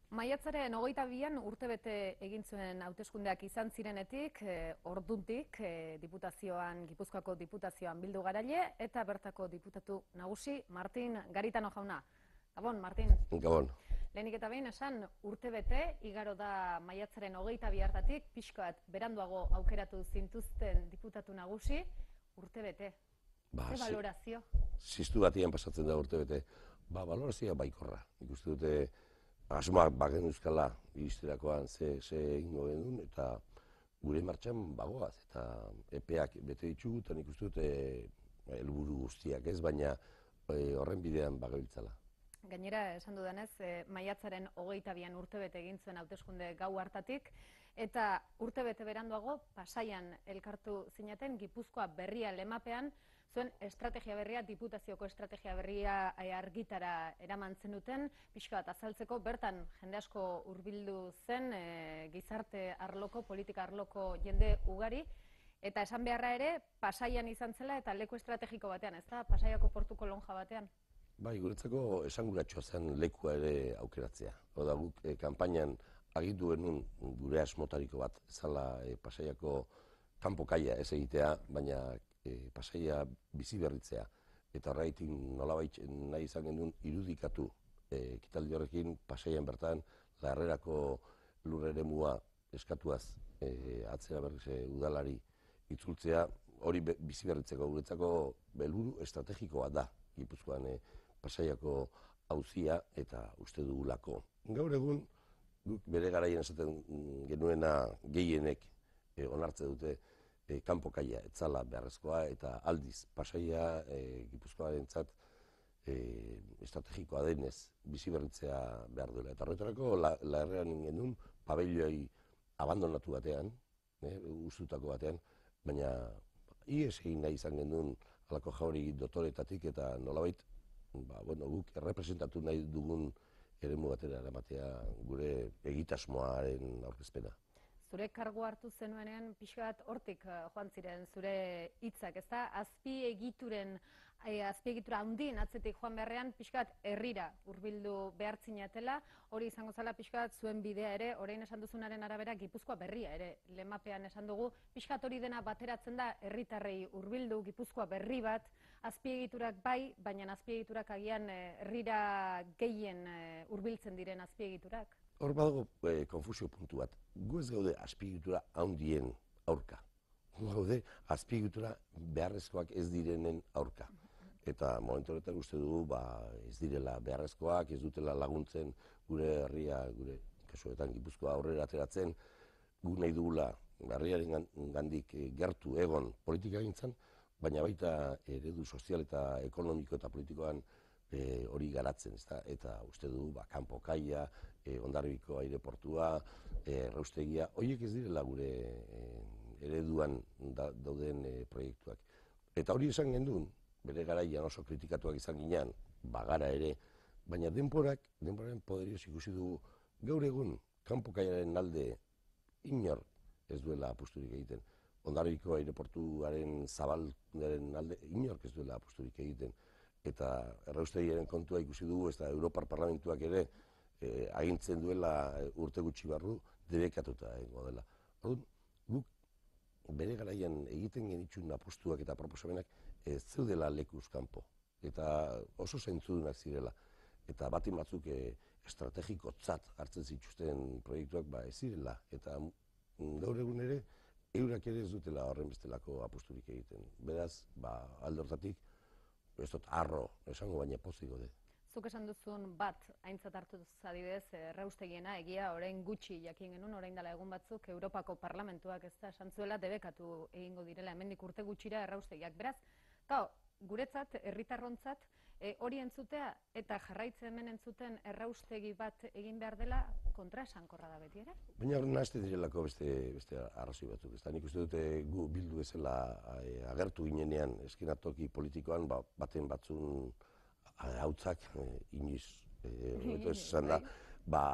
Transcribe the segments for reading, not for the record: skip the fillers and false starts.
Maiatzaren 22an urtebete egin zuen hauteskundeak izan zirenetik, orduntik diputazioan, Gipuzkoako diputazioan bildu garaile eta bertako diputatu nagusi Martin Garitano jauna. Gabon, Martin. Gabon. Lehenik eta behin esan urtebete, igaro da maiatzaren 22 hartatik, pixka bat beranduago aukeratu zintuzten diputatu nagusi, urtebete. Ze balorazio? Ziztu batian pasatzen da urtebete. Balorazioa baikorra. Ikuste dute asmoak bagen euskala iristerakoan ze egingo genuen, eta gure martxan bagoaz, eta epeak bete ditugu, eta nik uste dute helburu guztiak ez, baina horren bidean bagabiltzala. Gainera, esan dudanez, maiatzaren 22an urtebete egin zuen hauteskunde gau hartatik, eta urtebete beranduago Pasaian elkartu zinaten Gipuzkoa berria lemapean, zuen estrategia berria, diputazioko estrategia berria argitara eraman zenuten, pixka bat azaltzeko, bertan jende asko hurbildu zen gizarte arloko, politika arloko jende ugari, eta esan beharra ere, Pasaian izan zela eta leku estrategiko batean, ez da? Pasaiako portuko lonja batean. Bai, guretzako esanguratsua zen lekua ere aukeratzea. Oda guk kanpainan agindu genuen gure asmotariko bat zala Pasaiako kanpo kaia ez egitea, baina Pasaia bizi berritzea. Eta horregatik nolabait nahi izan genuen irudikatu ekitaldi horrekin Pasaian bertan Larrerako lur eremua eskatuaz atzera berriz udalari itzultzea, hori bizi berritzeko guretzako helburu estrategikoa da Gipuzkoan Pasaiako auzia eta uste dugulako. Gaur egun guk bere garaian esaten genuena gehienek onartze dute kanpo kaia etzala beharrezkoa, eta aldiz Pasaia Gipuzkoarentzat estrategikoa denez bizi berritzea behar duela. Eta horretarako Larrean genuen pabelloi abandonatu batean, ustutako batean, baina ihes egin nahi izan genuen halako jauri dotoretatik, eta nolabait guk errepresentatu nahi dugun eremu batera eramatea gure egitasmoaren aurkezpena. Zure kargu hartu zenuenean pixka bat hortik joan ziren zure hitzak, ez da? Azpiegitura handien atzetik joan beharrean pixka bat herrira hurbildu behar zinatela, hori izango zala pixka bat zuen bidea ere, orain esan duzunaren arabera Gipuzkoa berria ere, lemapean esan dugu, pixka bat hori dena bateratzen da herritarrei hurbildu, Gipuzkoa berri bat, azpiegiturak bai, baina azpiegiturak agian herrira gehien hurbiltzen diren azpiegiturak. Hor badago konfusio puntu bat. Gu ez gaude azpiegitura handien aurka. Gu gaude azpiegitura beharrezkoak ez direnen aurka. Eta momentu horretan uste dugu ez direla beharrezkoak, ez dutela laguntzen gure herria, gure kasuetan Gipuzkoa aurrera ateratzen, gu nahi dugula herriaren gandik gertu egon politika gintzan, baina baita eredu sozial eta ekonomiko eta politikoan hori garatzen, eta uste du kanpo kaia, Hondarribiko aireportua, erraustegia, horiek ez direla gure ereduan dauden proiektuak. Eta hori esan genuen, bere garaian oso kritikatuak izan ginean, bagara ere, baina denporaren poderioz ikusi dugu, gaur egun kanpo kaiaren alde inor ez duela apusturik egiten. Hondarribiko aireportuaren zabalaren alde inork ez duela apusturik egiten. Eta erraustegiaren kontua ikusi dugu, ez da Europar Parlamentuak ere agintzen duela urte gutxi barru debekatuta egongo dela. Guk bere garaian egiten genituen apustuak eta proposamenak ez zeudela lekuz kanpo. Eta oso zaintzudunak zirela. Eta batin batzuk estrategikotzat hartzen zituzten proiektuak ez zirela. Eta gaur egun ere, eurak ere ez dutela horren bestelako apusturik egiten. Beraz, alde hortatik, ez dut arro esango, baina pozik gode. Zuk esan duzun bat aintzat hartu adibidez erraustegiena, egia orain gutxi jakin genuen, orain dela egun batzuk Europako Parlamentuak ez da esan zuela debekatu egingo direla hemendik urte gutxira erraustegiak. Beraz, guretzat, herritarrontzat, hori entzutea eta jarraitze hemen entzuten erraustegi bat egin behar dela kontraesankorra da beti ere? Baina horren nahazte direlako beste arrazoi batzuk. Nik uste dute gu bildu bezala agertu ginenean eskenatoki politikoan baten batzun hautzak inoiz esan da,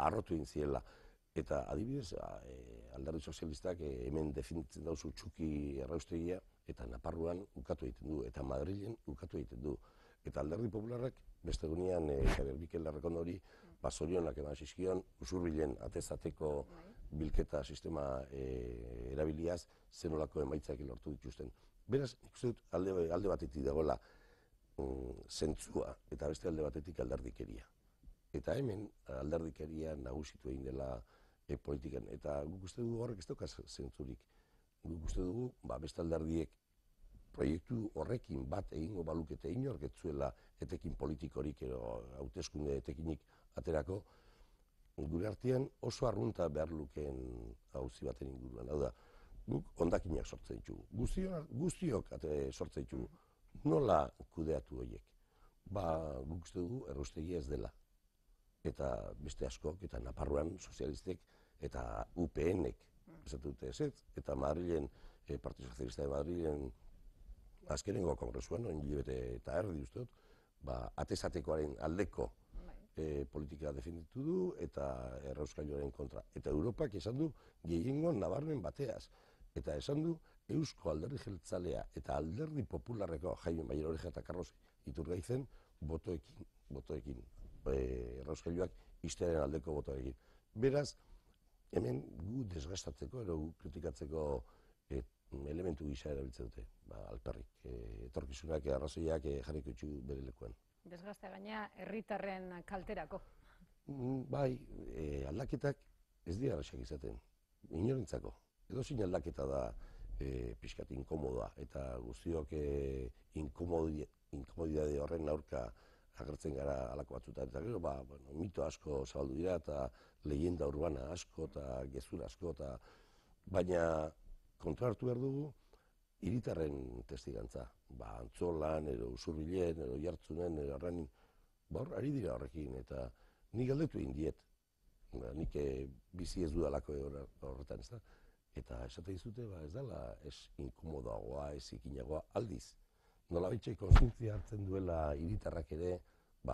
arrotu egin ziela. Eta adibidez, alderdi sozialistak hemen definitzen dauzu txuki erraustegia, eta Naparruan ukatu egiten du, eta Madrilen ukatu egiten du. Eta alderdi popularrak beste egunean Javier Mikel Errekondori zorionak eman zizkion, Usurbilen atezateko bilketa sistema erabiliaz, zenolako emaitzak lortu dituzten. Beraz, nik uste dut alde batetik dagoela zentzua eta beste alde batetik alderdikeria. Eta hemen alderdikeria nagusitu egin dela politikan. Eta guk uste dugu horrek ez dauka zentzurik. Guk uste dugu beste alderdiek proiektu horrekin bat egingo balukete inork ez zuela etekin politikorik edo hauteskunde etekinik aterako, gure artean oso arrunta behar lukeen auzi baten inguruan. Hau da, guk hondakinak sortzen ditugu. Guztiok sortzen ditugu. Nola kudeatu horiek? Guk uste dugu erraustegia ez dela. Eta beste askok, eta Nafarroan sozialistek, eta UPN-ek, esatu dute ez, eta Madrilen, Partido Socialista de Madrilen, azkenengo kongresuan, hilabete eta erdi uste dut, atezatekoaren aldeko politika defenditu du eta errauskailuaren kontra. Eta Europak esan du gehiengo nabarmen bateaz. Eta esan du Eusko Alderdi Jeltzalea eta Alderdi Popularreko Jaime Mayer Oreja eta Carlos Iturgaizen botoekin. Errauskailuak ixtearen aldeko botoekin. Beraz, hemen gu desgastatzeko edo kritikatzeko elementu gisa erabiltzen dute, alperrik, etorkizunak arrazoiak jarriko itxu bere lekuan. Desgastea gaina herritarren kalterako. Bai, aldaketak ez dira erraxak izaten, inorentzako. Edozein aldaketa da pixkat inkomodoa, eta guztiok inkomodidade horren aurka agertzen gara halako batzutan. Eta gero, mito asko zabaldu dira, eta leyenda urbana asko, eta gezur asko, baina kontra hartu behar dugu, hiritarren testigantza. Antzolan, edo Usurbilen, edo Jartzunen, edo Arranin, ari dira horrekin, eta nik galdetu egin diet. Nik bizi ez dudalako horretan, ez da? Eta esate dizute, ez dela, ez inkomodoagoa, ez ikinagoa, aldiz. Nola baitxai kontzientzia hartzen duela hiritarrak ere,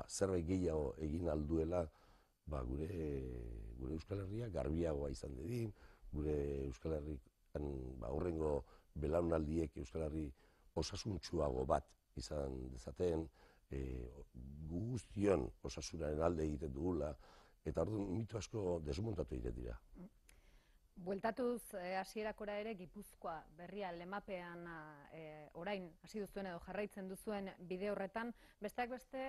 zerbait gehiago egin alduela, gure Euskal Herria garbiagoa izan dedin, gure Euskal Herrian aurrengo belaunaldiek Euskal Herri osasuntsuago bat izan dezaten, guztion osasunaren alde egiten dugula, eta orduan mito asko desmontatu egiten dira. Bueltatuz hasierakora ere Gipuzkoa berria lemapean orain hasi duzuen edo jarraitzen duzuen bide horretan, besteak beste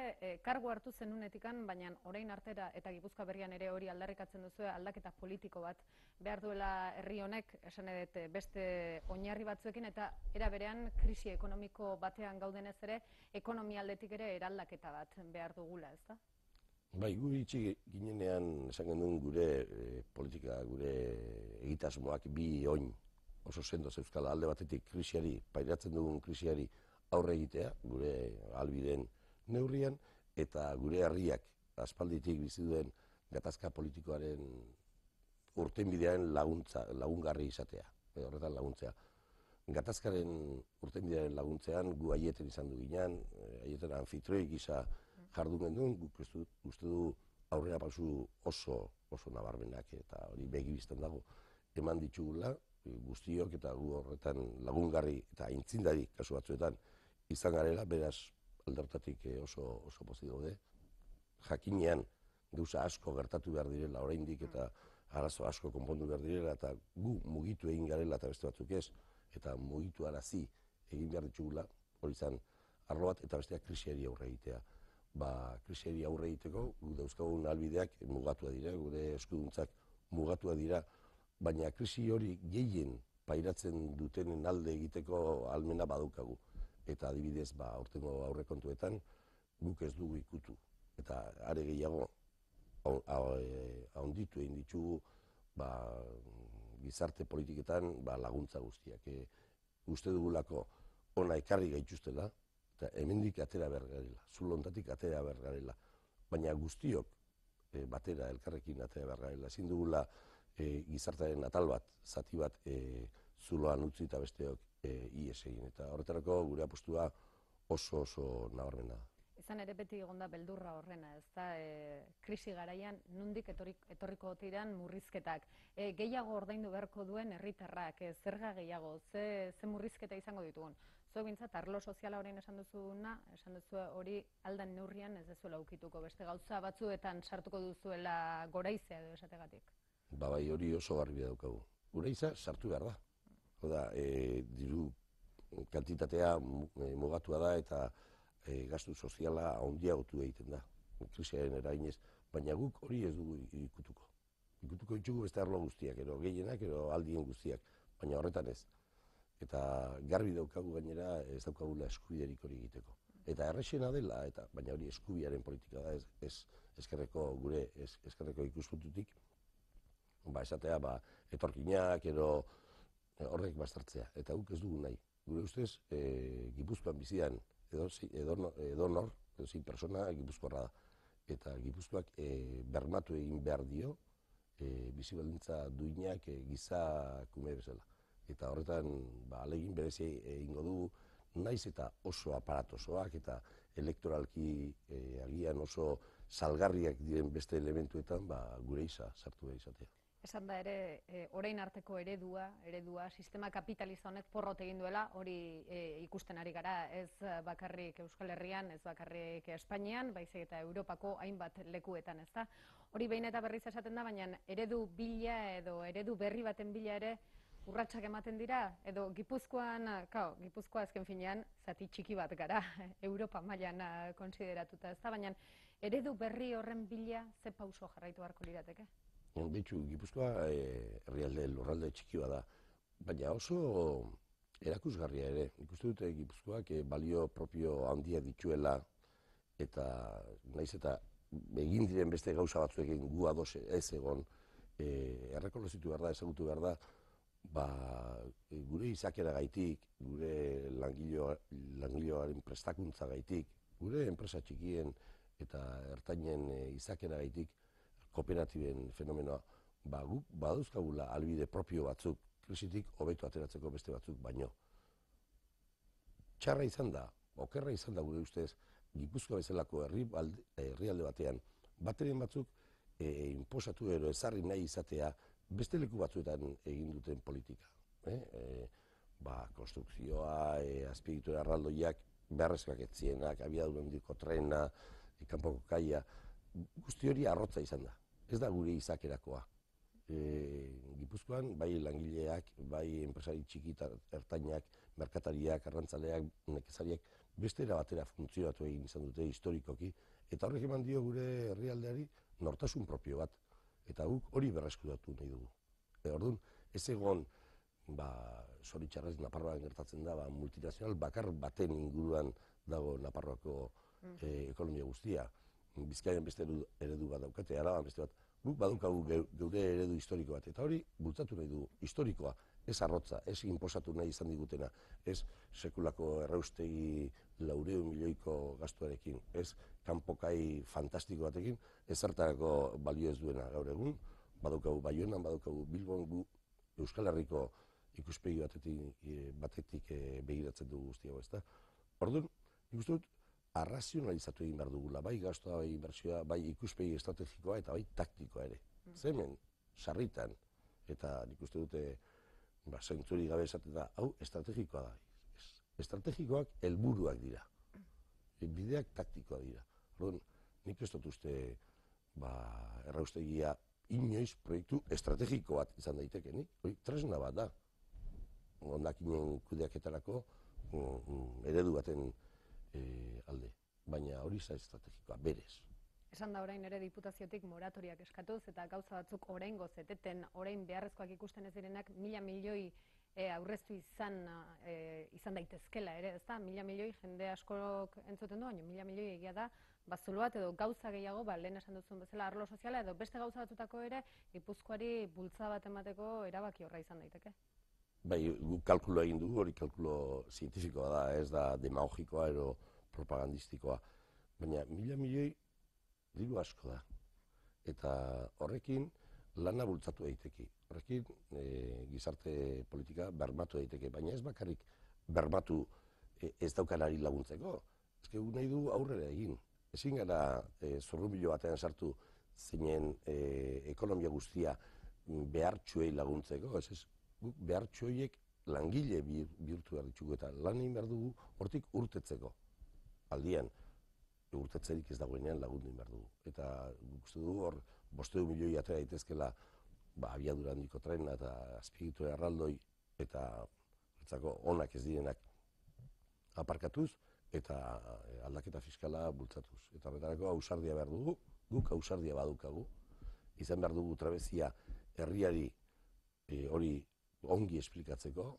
kargu hartu zenunetikan, baina orain artera eta Gipuzkoa berrian ere hori aldarrikatzen duzue aldaketa politiko bat behar duela herri honek, esan edet beste oinarri batzuekin, eta era berean krisi ekonomiko batean gaudenez ere, ekonomia aldetik ere eraldaketa bat behar dugula, ez da? Bai, gu itxi ginenean esan genuen gure politika, gure egitasmoak bi oin oso sendo zeuzkala. Alde batetik krisiari, pairatzen dugun krisiari aurre egitea, gure ahalbideen neurrian, eta gure herriak aspalditik bizi duen gatazka politikoaren urtenbidearen lagungarri izatea, horretan laguntzea. Gatazkaren urtenbidearen laguntzean gu aieten izan du ginen, aieten anfitrioi gisa jardun genduen, guk uste du aurrera pausu oso nabarmenak eta hori begi biztan dago eman ditugula, guztiok eta gu horretan lagungarri eta aintzindari kasu batzuetan izan garela, beraz aldertatik oso pozik daude. Jakinean gauza asko gertatu behar direla oraindik eta arazo asko konpondu behar direla eta gu mugitu egin garela eta beste batzuk ez, eta mugitu arazi egin behar ditugula, hori izan arlo bat eta besteak krisiari aurre egitea. Krisiari aurre egiteko, gu dauzkagun ahalbideak mugatua dira, gure eskuduntzak mugatua dira, baina krisi hori gehien pairatzen dutenen alde egiteko ahalmena badaukagu. Eta adibidez, aurtengo aurrekontuetan guk ez dugu ikutu. Eta are gehiago, handitu egin ditugu gizarte politiketan laguntza guztiak. Uste dugulako ona ekarri gaituztela, eta hemendik atera behar garela, zulo honetatik atera behar garela, baina guztiok batera elkarrekin atera behar garela. Ezin dugula gizartearen atal bat, zati bat zuloan utzi eta besteok ihes egin. Eta horretarako gure apostua oso nabarmena. Izan ere beti egonda beldurra horrena, ez da, krisi garaian nondik etorriko tiran murrizketak. Gehiago ordaindu beharko duen herritarrak, zerga gehiago, ze murrizketa izango ditugun. Zuek bintzat, arlo soziala orain esan duzuna, esan duzu hori aldan neurrian ez dezuela ukituko, beste gauza batzuetan sartuko duzuela goraizea edo esategatik. Bai, hori oso garbi daukagu. Goreiza sartu behar da. Oda, diru kantitatea mugatua da eta gastu soziala handiagotu egiten da. Krisiaren eraginez, baina guk hori ez dugu ikutuko. Ikutuko ditugu beste arlo guztiak, ero gehienak, ero aldien guztiak, baina horretan ez. Eta garbi daukagu gainera ez daukagula eskubiderik hori egiteko. Eta errexena dela, baina hori eskubiaren politika da, gure eskerreko ikuspuntutik, esatea, etorkinak, ero horrek baztertzea. Eta guk ez dugu nahi. Gure ustez, Gipuzkoan bizian edonor, zein persona Gipuzkoarra da. Eta Gipuzkoak bermatu egin behar dio bizi baldintza duinak gizakume bezala. Eta horretan ahalegin berezi egingo du, naiz eta oso aparatosoak eta elektoralki agian oso salgarriak diren beste elementuetan gure sartu behar izatea. Esan da ere, orain arteko eredua, sistema kapitalista honek porrot egin duela, hori ikusten ari gara, ez bakarrik Euskal Herrian, ez bakarrik Espainian, baizik eta Europako hainbat lekuetan, ez da? Hori behin eta berriz esaten da, baina eredu bila edo eredu berri baten bila ere urratsak ematen dira, edo Gipuzkoa azken finean, zati txiki bat gara, Europa mailan konsideratuta, ez da? Baina eredu berri horren bila ze pauso jarraitu beharko lirateke? Betxu, Gipuzkoa herrialde lurralde txiki bada, baina oso erakusgarria ere. Ikuste dute Gipuzkoak balio propio handia dituela eta naiz eta egin diren beste gauza batzuekin gu ados ez egon errekonozitu behar da, ezagutu behar da, gure izakera gaitik, gure langileoaren prestakuntza gaitik, gure enpresa txikien eta ertainen izakera gaitik, kooperatiben fenomenoa, guk badauzkagula albide propio batzuk, krisitik hobeto ateratzeko beste batzuk baino. Txarra izan da, okerra izan da gure ustez, Gipuzkoa bezalako herrialde batean, bateren batzuk inposatu ero ezarri nahi izatea beste leku batzuetan egin duten politika. Konstrukzioa, azpiegitura erraldoiak, beharrezkoak etzienak, abiadura handiko trena, kanpoko kaia, guzti hori arrotza izan da. Ez da gure izakerakoa. Gipuzkoan, bai langileak, bai enpresari txiki ertainak, merkatariak, arrantzaleak, nekezariak, beste era batera funtzionatu egin izan dute historikoki, eta horrek eman dio gure herrialdeari nortasun propio bat. Eta guk hori berreskuratu nahi dugu. Orduan, ez egon, zoritxarrez Nafarroan gertatzen da, multinazional bakar baten inguruan dago Nafarroako ekonomia guztia. Bizkaian beste eredu bat daukate, Araban beste bat, guk badaukagu geure eredu historiko bat, eta hori bultzatu nahi dugu, historikoa, ez arrotza, ez inposatu nahi izan digutena, ez sekulako erraustegi 400 milioiko gastuarekin, ez kanpokai fantastiko batekin, ez zertarako balio ez duena gaur egun, badaukagu Baionan, badaukagu Bilbon, gu Euskal Herriko ikuspegi batetik begiratzen dugu guztiago, ezta? Orduan, nik uste dut, arrazionalizatu egin behar dugula, bai gastua, bai inbertsioa, bai ikuspegi estrategikoa eta bai taktikoa ere. Zemen, sarritan, eta nik uste dute, zentzuri gabe esaten da, hau estrategikoa da. Estrategikoak helburuak dira. Bideak taktikoa dira. Orduan, nik ez dut uste erraustegia inoiz proiektu estrategiko bat izan daitekenik. Hori tresna bat da. Hondakinen kudeaketarako eredu baten alde, baina hori za estrategikoa, berez. Esan da orain ere diputaziotik moratoriak eskatuz eta gauza batzuk oraingoz eteten, orain beharrezkoak ikusten ez direnak 1.000 milioi aurreztu izan daitezkela ere, ezta? 1.000 milioi jende askok entzuten du, baina 1.000 milioi egia da, zulo bat edo gauza gehiago, lehen esan duzun bezala arlo soziala edo beste gauza batzutako ere, Gipuzkoari bultza bat emateko erabaki horra izan daiteke. Bai, guk kalkulo egin dugu, hori kalkulo zientifikoa da, ez da demagogikoa edo propagandistikoa. Baina 1.000 milioi diru asko da. Eta horrekin lana bultzatu daiteke. Horrekin gizarte politika bermatu daiteke. Baina ez bakarrik bermatu ez daukanari laguntzeko. Ez que nahi du aurrera egin. Ezin gara zorrumilo batean sartu zeinen ekonomia guztia behartxuei laguntzeko. Guk behartxu horiek langile bihurtu behar ditugu eta lan egin behar dugu hortik urtetzeko. Aldian, urtetzerik ez dagoenean lagundu egin behar dugu. Eta uste dugu hor 500 milioi atera daitezkela abiadura handiko trena eta azpiegitura erraldoi eta onak ez direnak aparkatuz eta aldaketa fiskala bultzatuz. Eta horretarako ausardia behar dugu, guk ausardia badukagu, izan behar dugu trabezia herriari hori ongi esplikatzeko,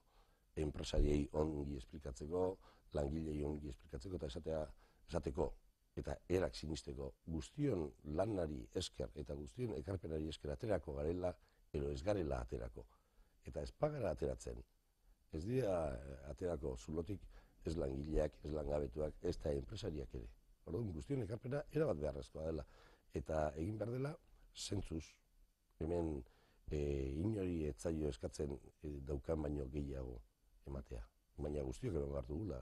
enpresariei ongi esplikatzeko, langilei ongi esplikatzeko eta esateko eta erak sinisteko guztion lanari esker eta guztion ekarpenari esker aterako garela, edo ez garela aterako. Eta ez pagara ateratzen, ez dira aterako zulotik ez langileak, ez langabetuak, ez da enpresariak ere. Orduan guztion ekarpena erabat beharrezkoa dela. Eta egin behar dela, zentzuz, hemen inori etzaio eskatzen daukan baino gehiago ematea. Baina guztiok eman behar dugula.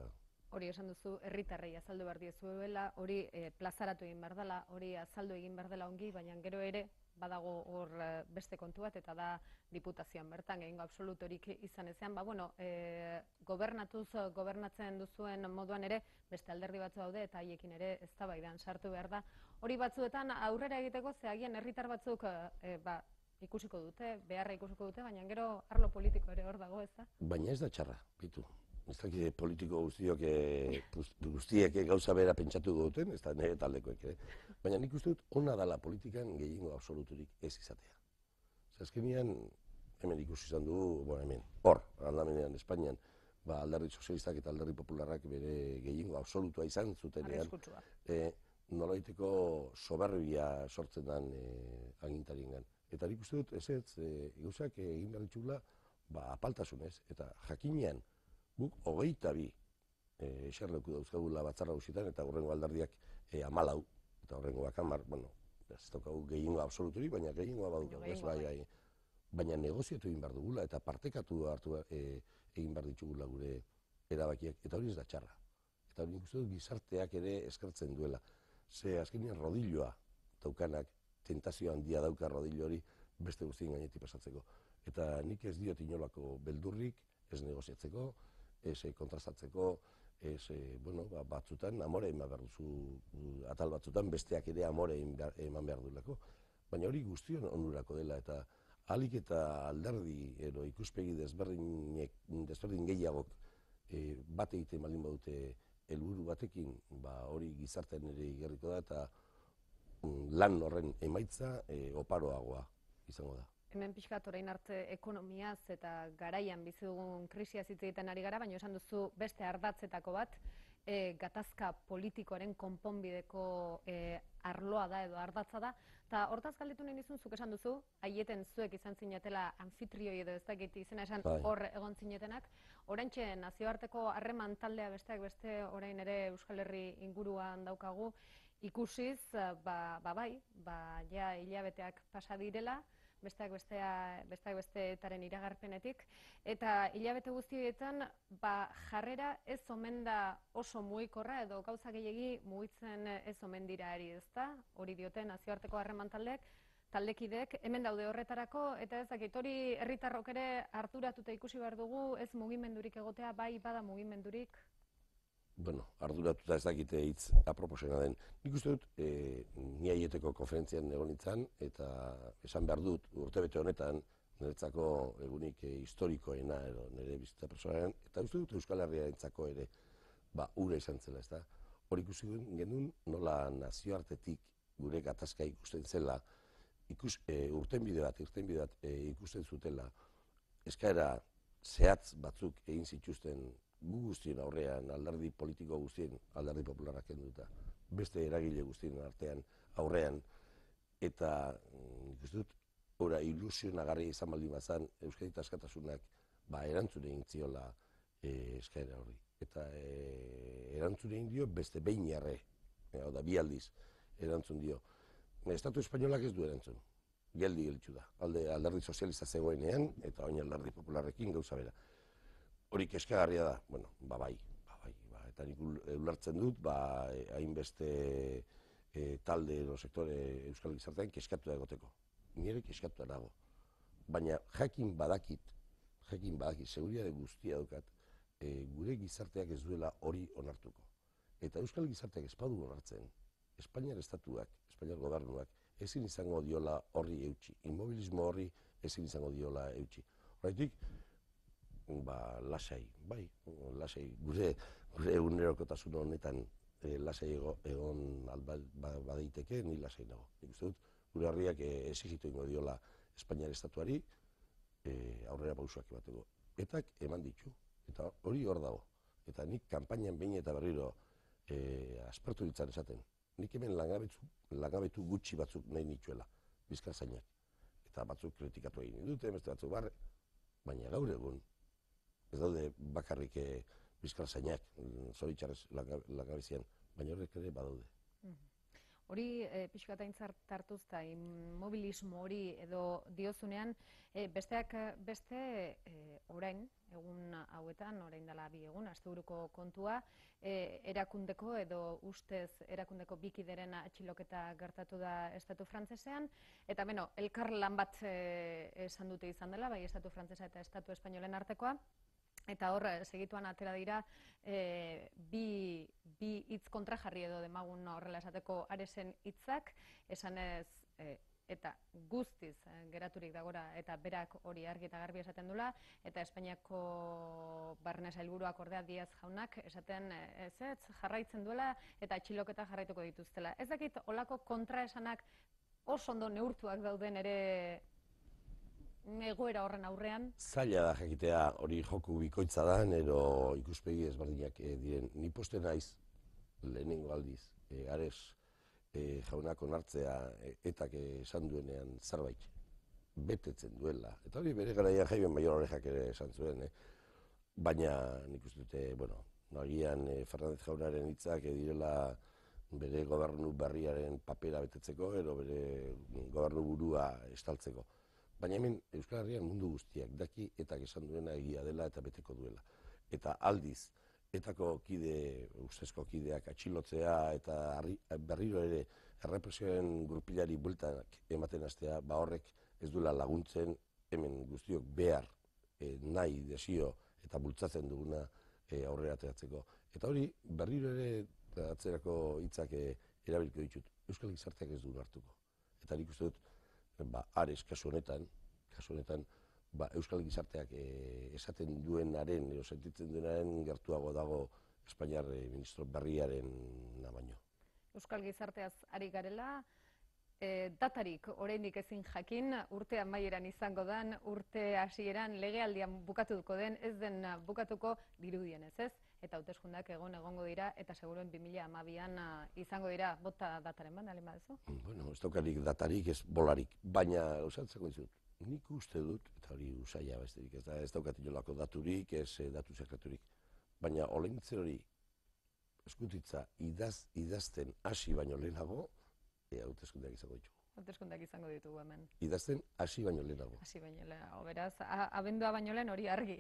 Hori esan duzu, herritarrei azaldu behar diezuela, hori plazaratu egin behar dela, hori azaldu egin behar dela ongi, baina gero ere badago hor beste kontu bat, eta da diputazioan bertan, gehiengo absolutorik izan ezean, gobernatuz, gobernatzen duzuen moduan ere, beste alderdi batzu daude, eta haiekin ere eztabaidan sartu behar da. Hori batzuetan aurrera egiteko, zehagian herritar batzuk ikusiko dute, beharra ikusiko dute, baina gero arlo politiko ere hor dago, ez da? Baina ez da txarra, bitu. Ez dakit politiko guztiek gauza bera pentsatu duten, ez da nire taldekoek ere. Baina nik uste dut ona dala politikan gehiengo absoluturik ez izatea. Azkenean, hemen ikusi izan dugu, hemen, hor, aldamenean, Espainian, alderdi sozialistak eta alderdi popularrak bere gehiengo absolutua izan zutenean, nolaiteko soberbia sortzen den agintariengan. Eta nik uste dut, gauzak egin behar ditugula apaltasunez, eta jakinean, guk 22 eserleku dauzkagula Batzar Nagusietan eta hurrengo alderdiak 14 eta hurrengoak 10, ez daukagu gehiengo absoluturik, baina gehiengoa badugu. Baina negoziatu egin behar dugula eta partekatu egin behar ditugula gure erabakiak, eta hori ez da txarra. Eta hori nik uste dut gizarteak ere eskertzen duela. Ze azkenean rodilloa daukanak, tentazio handia dauka rodillo hori beste guztien gainetik pasatzeko. Eta nik ez diot inolako beldurrik, ez negoziatzeko, ez kontrastatzeko, batzutan amore eman behar duzu, atal batzutan besteak ere amore eman behar duelako. Baina hori guztion onurako dela eta ahalik eta alderdi edo ikuspegi desberdin gehiagok bat egiten baldin badute helburu batekin, hori gizartean ere igerriko da eta lan horren emaitza oparoagoa izango da. Hemen pixkat orain arte ekonomiaz eta garaian bizi dugun krisiaz hitz egiten ari gara, baina esan duzu beste ardatzetako bat, gatazka politikoaren konponbideko arloa da edo ardatza da, eta hortaz galdetu nahi nizun, zuk esan duzu, aieten zuek izan zinetela anfitrioi edo ez dakit izena esan hor egon zinetenak, oraintxe nazioarteko harreman taldea besteak beste orain ere Euskal Herri inguruan daukagu, ikusiz, ja hilabeteak pasa direla, besteak besteetaren iragarpenetik, eta hilabete guztietan jarrera ez omen da oso mugikorra edo gauza gehiegi mugitzen ez omen dira ari, ezta? Hori dioten nazioarteko harreman taldekideek hemen daude horretarako, eta ez dakit hori herritarrok ere arduratuta ikusi behar dugu, ez mugimendurik egotea, bai bada mugimendurik? Arduratuta ez dakite hitz aproposena den. Nik uste dut, ni aieteko konferentzian egon nintzen, eta esan behar dut urtebete honetan, niretzako egunik historikoena edo nire bizitza personalean, eta uste dut Euskal Herriarentzako ere ura izan zela, ezta? Hor ikusi genuen nola nazioartetik gure gatazka ikusten zela, irtenbide bat ikusten zutela, eskaera zehatz batzuk egin zituzten gu guztien aurrean, alderdi politiko guztien, alderdi popularrak kenduta, beste eragile guztien artean aurrean, eta nik uste dut, ilusionagarria izan baldin bazan, Euskadi askatasunak erantzun egin ziola eskaera horri. Eta erantzun egin dio beste behin jarre, bi aldiz erantzun dio. Estatu espainolak ez du erantzun, geldi gelitzu da. Alderdi sozialista zegoenean, eta oin alderdi popularrekin gauza bera. Hori keskagarria da, bai, eta nik ulertzen dut, hainbeste talde edo sektore euskal gizartean keskatu da egoteko. Nire keskatu dago. Baina jakin jakin badaki, seguritate guztia daukat, gure gizarteak ez duela hori onartuko. Eta euskal gizarteak ez badu onartzen, Espainiar estatuak, Espainiar gobernuak, ezin izango diola horri eutsi. Inmobilismo horri ezin izango diola eutsi. Horretik, lasai, bai, lasai, gure egunerokotasun honetan lasai egon badaiteke, ni lasai nago. Nik uste dut, gure herriak exigitu ingo diola Espainiar estatuari aurrera pausoak emateko. Etak eman ditu, eta hori hor dago. Eta nik kanpainan behin eta berriro aspertu ditzan esaten. Nik hemen langabetu gutxi batzuk nahi nituela, bizkarzainak. Eta batzuk kritikatu egin dute, beste batzuk barre, baina gaur egun, ez daude bakarrik bizkarzainak, zoritxarrez langabezian, baina horrek ere badaude. Hori pixka eta aintzat hartuz eta immobilismo hori edo diozunean, besteak beste orain, egun hauetan, orain dela 2 egun, asteburuko kontua, erakundeko edo ustez erakundeko bikideren atxiloketa gertatu da estatu frantsesean, eta elkar lan bat esan dute izan dela, bai estatu frantsesa eta estatu espainolen artekoa, eta hor, segituan atera dira, bi hitz kontrajarri edo demagun horrela esateko Aresen hitzak, esanez, eta guztiz geraturik dagora, eta berak hori argi eta garbi esaten dula, eta Espainiako barne sailburuak ordea Díaz jaunak esaten ez jarraitzen duela, eta atxiloketa jarraituko dituztela. Ez dakit, olako kontraesanak oso ondo neurtuak dauden ere egoera horren aurrean? Zaila da jakitea hori joku bikoitza da, edo ikuspegi ezberdinak diren. Ni poste naiz, lehenengo aldiz, Ares jaunak onartzea etak esan duenean zerbait betetzen duela. Eta hori bere garaian Jaime Mayor Orejak ere esan zuen, baina nik uste dute, nagian Fernández jaunaren hitzak direla bere gobernu berriaren papera betetzeko, edo bere gobernu burua estaltzeko. Baina hemen Euskal Herrian mundu guztiak daki etak esan duena egia dela eta beteko duela. Eta aldiz, etako ustezko kideak atxilotzea eta berriro ere errepresioaren grupilari bueltak ematen hastea, horrek ez duela laguntzen hemen guztiok behar, nahi, desio eta bultzatzen duguna aurrera ateratzeko. Eta hori berriro ere atzerako hitzak erabiliko ditut. Euskal gizarteak ez du hartuko. Eta nik uste dut, Ares kasu honetan, Euskal gizarteak esaten duenaren, edo sentitzen duenaren gertuago dago Espainiar ministro berriaren baino. Euskal gizarteaz ari garela, datarik oraindik ezin jakin, urte amaieran izango den, urte hasieran legealdian bukatuko den, ez den bukatuko dirudienez, ez? Eta hauteskundeak egongo dira, eta seguruen 2012an izango dira, bota dataren ban, alin badezu? Ez daukarik datarik, ez bolarik, baina usatzeko dizut, nik uste dut, eta hori usaila besterik, ez daukat inolako daturik, ez datu sekreturik, baina oleintzen hori eskutitza idazten hasi baino lehenago, hauteskundeak izango ditugu. Hauteskundeak izango ditugu hemen. Idazten hasi baino lehenago. Hasi baino lehenago, beraz, abendua baino lehen hori argi.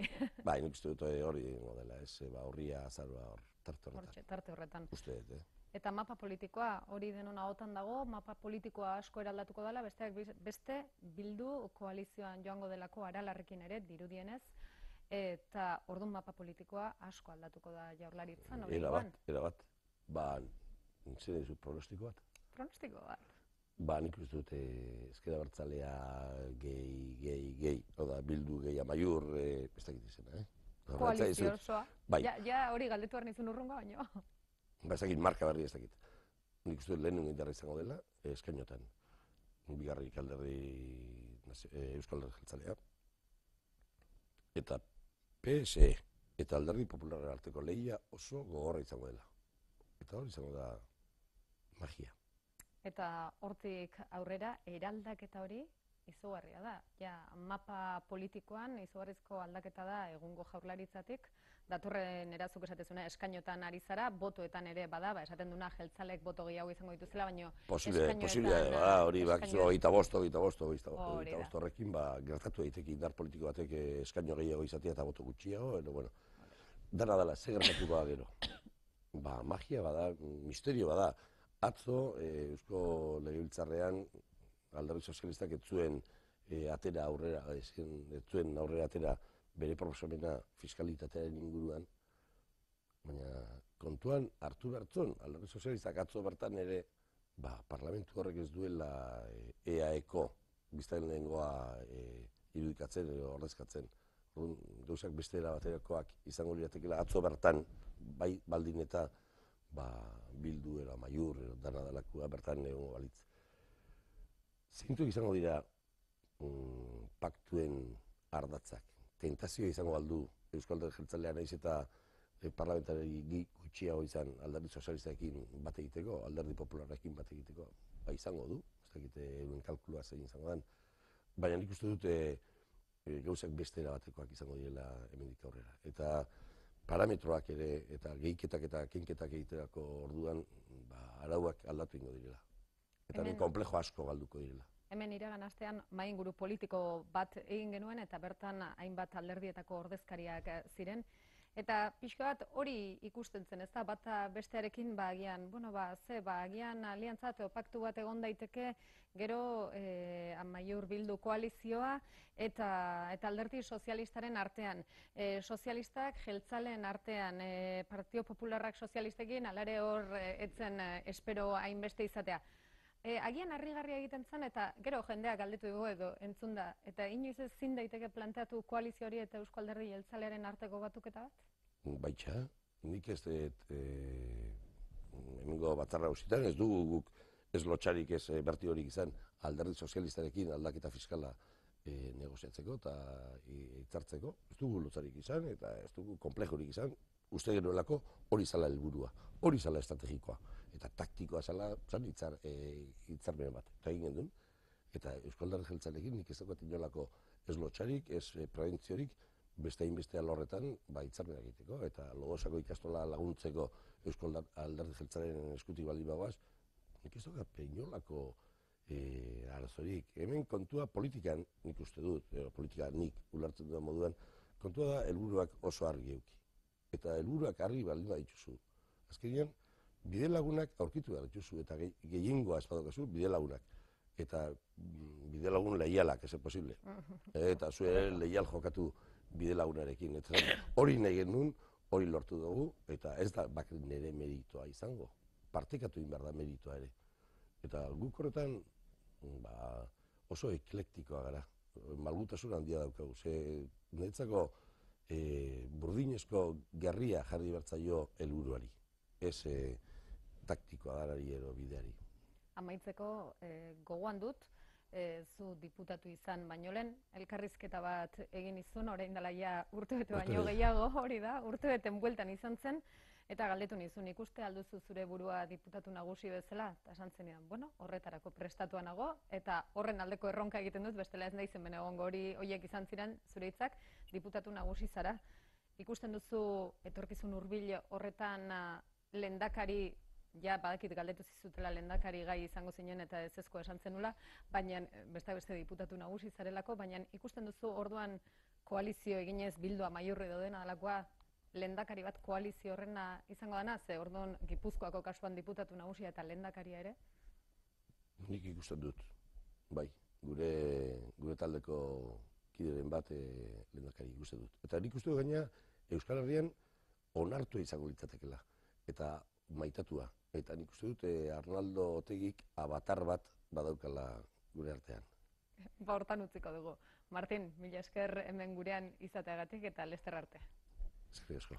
Nik uste dut hori dela, ez, horria, azaroa, tarte horretan. Tarte horretan. Uste dut, Eta mapa politikoa, hori denon ahotan dago, mapa politikoa asko eraldatuko dela, besteak beste Bildu koalizioan joango delako Aralarrekin ere, dirudienez, eta orduan mapa politikoa asko aldatuko da Jaurlaritzan. Erabat. Zer dizut pronostiko bat? Pronostiko bat? Nik uste dut ezker abertzalea gehi, oda Bildu gehi Amaiur, ez dakit izena, Koalizio osoa. Ja hori galdetu behar nizun urrungo baino. Ez dakit, marka berri ez dakit. Nik uste dut lehen indarra izango dela, eskainotan. Bigarrik alderdi Euskal Alderdi Jeltzalea. Eta PSE eta Alderdi Popularren arteko lehia oso gogorra izango dela. Eta hori izango da magia. Eta hortik aurrera, eraldaketa hori izugarria da. Mapa politikoan izugarrizko aldaketa da egungo Jaurlaritzatik. Datorren erazuk esatezuna eskainotan ari zara, botoetan ere bada, esaten duna jeltzalek boto gehiago izango dituzela, baino eskainoetan... hori bakizu 25 horrekin gertatu daiteke indar politiko batek eskaino gehiago izatea eta boto gutxiago, dana dela, ze gertatuko da gero. Magia bada, misterio bada. Atzo, Eusko Legebiltzarrean, Alderdi Sozialistak ez zuen aurrera atera bere proposamena fiskalitatearen inguruan, baina kontuan hartu bertzon, Alderdi Sozialistak atzo bertan ere, parlamentu horrek ez duela EAeko biztanlegoa irudikatzen edo ordezkatzen. Gauzak beste era baterakoak izango liratekeela atzo bertan, bai baldin eta Bildu edo Amaiur edo dana dalakua bertan egongo balitz. Zeintzuk izango dira paktuen ardatzak. Tentazioa izango aldu Eusko Alderdi Jeltzalea naiz eta parlamentari gutxiago izan Alderdi Sozialistarekin bat egiteko, Alderdi Popularrekin bat egiteko, izango du, ez dakite euren kalkulua zein izango den. Baina nik uste dut gauzak beste erabatekoak izango direla hemendik aurrera. Eta parametroak ere, eta gehiketak eta kenketak egiterako orduan, arauak aldatu ingo direla. Eta hemen konplejo asko galduko direla. Hemen iragan astean mahainguru politiko bat egin genuen eta bertan hainbat alderdietako ordezkariak ziren. Eta pixka bat hori ikusten zen, ez da, bata bestearekin agian, agian aliantza edo paktu bat egon daiteke, gero Amaiur Bildu koalizioa eta Alderdi Sozialistaren artean. Sozialistak jeltzaleen artean, Partido Popularrak sozialistekin, alare hor etzen espero hainbeste izatea. Agian harrigarria egiten zen eta gero jendeak galdetu dugu edo entzun da. Eta inoiz ezin daiteke planteatu koalizio hori eta Eusko Alderdi Jeltzalearen arteko batuketa bat? Baitxa, nik ez dut hemengo batzarra hausitan, ez dugu guk ez lotxarik ez berti horik izan Alderdi Sozialistarekin aldaketa fiskala negoziatzeko eta hitzartzeko. Ez dugu lotxarik izan eta ez dugu konplejorik izan. Uste genuelako hori zala helburua, hori zala estrategikoa. Eta taktikoa zala hitzarmen bat. Eta egin gendun. Eta Eusko Alderdi Jeltzaleekin nik ez daukat inolako ez lotxarik, ez prebentziorik, beste hainbeste alorretan hitzarmena egiteko. Eta Lodosako ikastola laguntzeko Eusko Alderdi Jeltzalearen eskutik baldin bagoaz, nik ez daukat inolako arazorik. Hemen kontua politikan nik uste dut, politika nik ulertzen duen moduan, kontua da helburuak oso argi euki. Eta helburuak argi baldin badituzu. Azkenean, bide lagunak aurkitu behar dituzu, eta gehiengoa ez badokazu, bide lagunak. Eta bide lagun leialak, ez posible. Eta zu ere leial jokatu bide lagunarekin. Hori nahi genuen, hori lortu dugu, eta ez da bakit nire meritoa izango. Partekatu egin behar da meritoa ere. Eta guk horretan oso eklektikoa gara. Malgutasun handia daukagu. Niretzako burdinezko gerria jarri bertzaio helburuari. Ez taktikoa garari edo bideari. Amaitzeko gogoan dut, zu diputatu izan baino lehen, elkarrizketa bat egin izun, orain dela ja urtebete baino gehiago, hori da, urtebeten bueltan izan zen, eta galdetu nizun ikuste alduzu zure burua diputatu nagusi bezala, eta esan zenean, horretarako prestatua nago, eta horren aldeko erronka egiten dut, bestela ez naizen bene egongo horiek izan ziren zure hitzak, diputatu nagusi zara. Ikusten duzu etorkizun hurbil horretan lehendakari, ja badakit galdetu zizutela lehendakari gai izango zinen eta ezezko esan zenula, baina beste diputatu nagusi zarelako, baina ikusten duzu orduan koalizio eginez Bildu Amaiur edo dena delakoa, lehendakari bat koalizio horrena izango dena, ze orduan Gipuzkoako kasuan diputatu nagusia eta lehendakaria ere? Nik ikusten dut, bai, gure taldeko kideren bat lehendakari ikusten dut. Eta nik uste dut gaina Euskal Herrian onartua izango litzatekela, eta maitatua. Eta nik uste dut Arnaldo Otegik abatar bat badaukala gure artean. Hortan utziko dugu. Martin, mila esker hemen gurean izateagatik eta lester arte. Eskerrik asko.